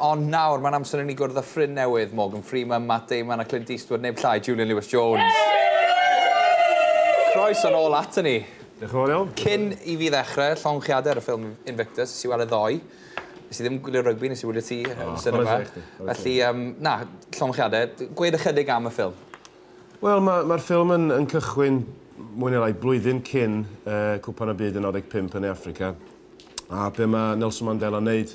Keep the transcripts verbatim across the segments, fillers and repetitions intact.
Ond nawr, mae'n amser i ni gwrdd â ffrind newydd, Morgan Freeman, Matt Damon a Clint Eastwood, neb llai, Julian Lewis-Jones. Croeso nôl ato ni. Diolch yn fawr iawn. Cyn i fi ddechrau, llongyfarchiadau ar y ffilm Invictus, nes i weld e ddoe. Nes i ddim gwylio rygbi, nes i wylio ti yn oh, cinema. Felly, um, na, llongyfarchiadau. Gweud ychydig am y ffilm. Wel, mae'r ma ffilm yn, yn cychwyn mwy neu lai blwyddyn cyn uh, Cwpan y Byd yn naw deg pump yn Affrica. A be mae Nelson Mandela wneud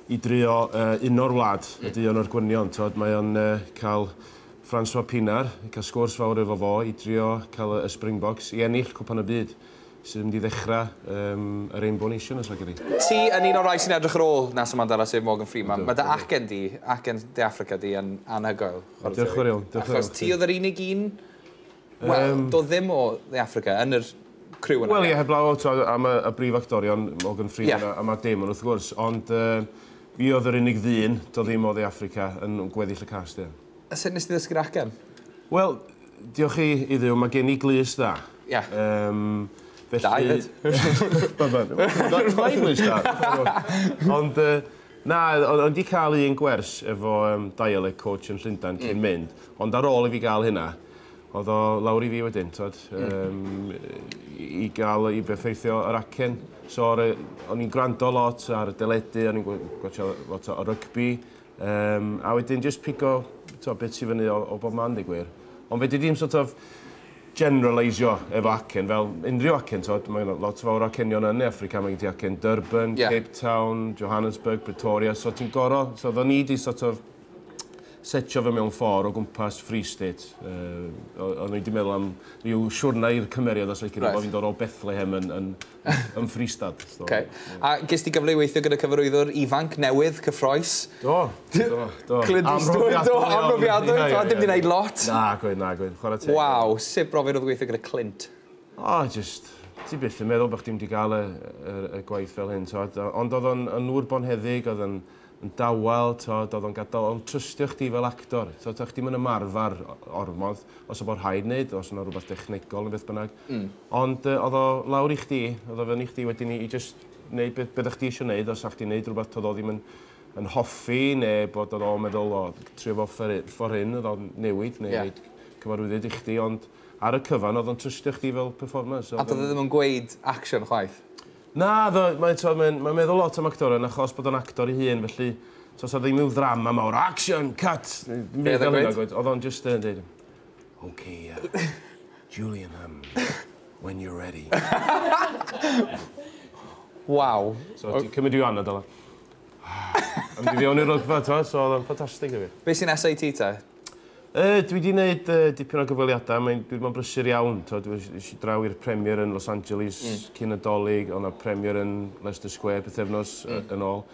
i drio uh, uno'r wlad, mm. ydy un o'r gwynion. Tod, mae o'n uh, cael Francois Pienaar, cael sgwrs fawr efo fo, i drio cael y Springboks i ennill Cwpan y Byd, sydd yn mynd i ddechrau um, y Rainbow Nation, os ydych chi. Ti yn un o'r rai sy'n edrych ar ôl Nelson Mandela, sef Morgan Freeman. Mae dy acen di, acen De Affrica di, yn anhygoel. Diolch yn fawr iawn. Achos ti oedd yr unig un, wel, um, do ddim o De Affrica yn yr criw yna. Wel, ie, heblaw am y, y brif actorion, Morgan Freeman yeah. a, a Matt Damon, wrth gwrs, ond uh, fi oedd yr unig ddyn, do ddim o Dde Affrica, yn gweddill y cast, ie. A sut nes ti ddysgu'r acen? Wel, diolch i, i Dduw, mae gen i glust dda. Ie. Yeah. Um, felly... Da, hefyd. Mae'n glust da. Ond, na, o'n di cael un gwers efo um, dialect coach yn Llundain cyn mm. mynd, ond ar ôl i fi gael hynna, oedd o lawr i fi wedyn, tod, um, i gael, i berffeithio yr acen. So, o'n i'n gwrando lot ar y deledu, o'n i'n gwatio lot o rygbi, um, a wedyn just pigo to, bit i fyny o, o bob man, dweud gwir. Ond fe di ddim sort of generalisio efo acen, fel unrhyw acen, tod, mae lot fawr o acenion yn Affrica, mae gen ti acen Durban, yeah. Cape Town, Johannesburg, Pretoria, so ti'n goro, so oedden ni di sort of setio fe mewn ffordd o gwmpas Free State. Uh, o'n i wedi meddwl am rhyw siwrna i'r cymeriad os right. Fi'n dod o Bethlehem yn, yn, yn Free State. So, okay. Yeah. A ges ti gyfle i weithio gyda cyfarwyddwr ifanc newydd, cyffroes? Do, do, do. Clint Eastwood, do, amhrofiadwy. Yeah, yeah, yeah. Dim di wneud lot. Na, gweud, na, gweud. Chwarae teg. Waw, sut brofiad oedd gweithio gyda Clint? O, oh, just, ti byth yn meddwl bod chdi'n wedi gael y, y, y gwaith fel hyn. To. Ond oedd o'n yn ŵr bonheddig, oedd o'n yn dawel, tod, oedd o'n gadael, o'n trystio chdi fel actor. So, to, chdi'm yn ymarfer ormod, os o bod rhaid wneud, os yna rhywbeth technegol neu beth bynnag. Mm. Ond uh, oedd o lawr i chdi, oedd o fyny chdi wedyn i, i just wneud beth, beth chdi eisiau wneud, os chdi'n wneud rhywbeth oedd o ddim yn, yn hoffi, neu bod oedd o'n meddwl, o, trio fo ffordd hyn, oedd o'n newid, neu yeah. cyfarwyddyd i chdi, ond ar y cyfan oedd o'n trystio chdi fel performer. So, a doedd o ddim yn gweud action chwaith? Na, mae'n mae, mae meddwl lot am actorion achos bod o'n actor ei hun, felly so, so ddim yw ddrama mawr, action, cut! Be oedd o'n gweud? Oedd o'n just yn dweud, OK, uh, Julian, um, when you're ready. Waw. So, ti'n cymryd i'w anad ola. Am di fewn i'r olygfa, to, so oedd o'n ffantastig i fi. Be sy'n S A T te? Uh, dwi wedi gwneud uh, dipyn o gyfweliadau, mae'n dwi wedi brysur iawn. To, dwi eisiau draw i'r premier yn Los Angeles mm. cyn y Dolig, o'na premier yn Leicester Square pythefnos mm. yn ôl.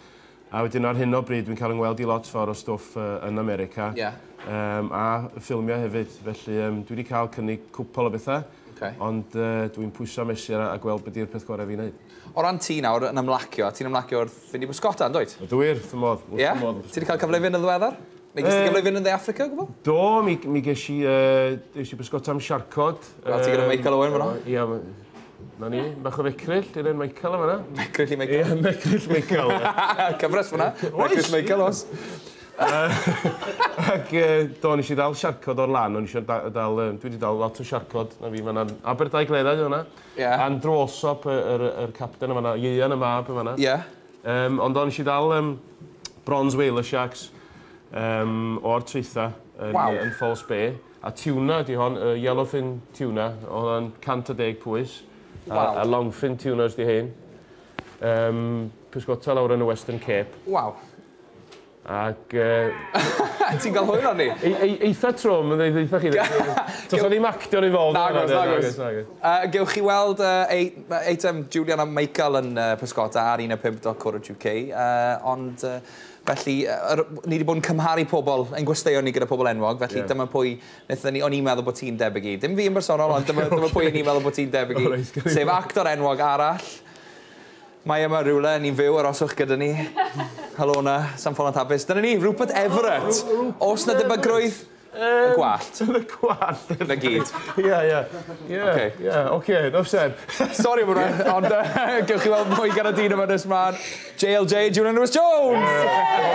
A wedyn ar hyn o bryd dwi'n cael yngweld i lot fawr o stwff uh, yn America. Yeah. Um, a ffilmio hefyd, felly um, dwi wedi cael cynnig cwpl o bethau. Okay. Ond uh, dwi'n pwyso mesur a, a gweld beth yw'r peth gorau fi'n neud. O ran ti nawr yn ymlacio, ti'n ymlacio wrth fynd i bysgota, yn dwyt? Ydw wir, wrth fy modd. Ie? Ti wedi cael cyfle i fynd yn ddiweddar? Neu ges ti gyfle i fynd yn Dde Affrica o gwbl? Do, mi, mi ges i, uh, ges i bysgota am siarcod. Wel, ti gyda Michael Owen fan'na? Ie, na ni, bach o fecryll, i'r un Michael yma. Mecryll i Michael? Ie, mecryll Michael. Cyfres fan'na, mecryll Michael os. Ac do, nes i ddal siarcod o'r lan, o'n i dal, dal, dwi wedi dal lot o siarcod, na fi, fan'na, Aberdaugleddau fan'na. Ie. Andrew Alsop, yr, yr capten yma, Ieuan y mab yma. Ie. Um, ond o'n i dal um, bronze whaler sharks um, o'r traetha yn, wow. yn False Bay. A tuna di hon, uh, yellowfin tuna, oedd o'n cant a deg pwys. Wow. A, a longfin tunas di hyn. Um, pysgota lawr yn y Western Cape. Waw. Ac... Uh, Ti'n cael hwyl arni? E, e, eitha trwm, yn dweud eitha chi. Tos o ddim actio'n involved. Nagos, nagos. Uh, gewch chi weld uh, eitem Julian a Michael yn uh, pysgota ar un a pump dot co dot U K. Uh, ond, uh, felly, uh, ni wedi bod yn cymharu pobl, ein gwesteion ni gyda pobl enwog, felly yeah. dyma pwy, wnaethon ni, o'n i'n meddwl bod ti'n debyg i. Dim fi yn bersonol, ond dyma, dyma pwy o'n i'n meddwl bod ti'n debyg i. Sef actor enwog arall. Mae yma rhywle, ni'n fyw, aroswch gyda ni. Helo na, Sam Ffolant Hapus. Dyna ni, Rupert Everett. Oes na debygrwydd? Y gwallt. Y gwallt. Na gyd. Ie, ie. Ie, ie, oce, enough said. Sori am hwnna, ond gewch chi weld mwy gan y dyn yma nes mlaen. J L J, Julian Lewis-Jones!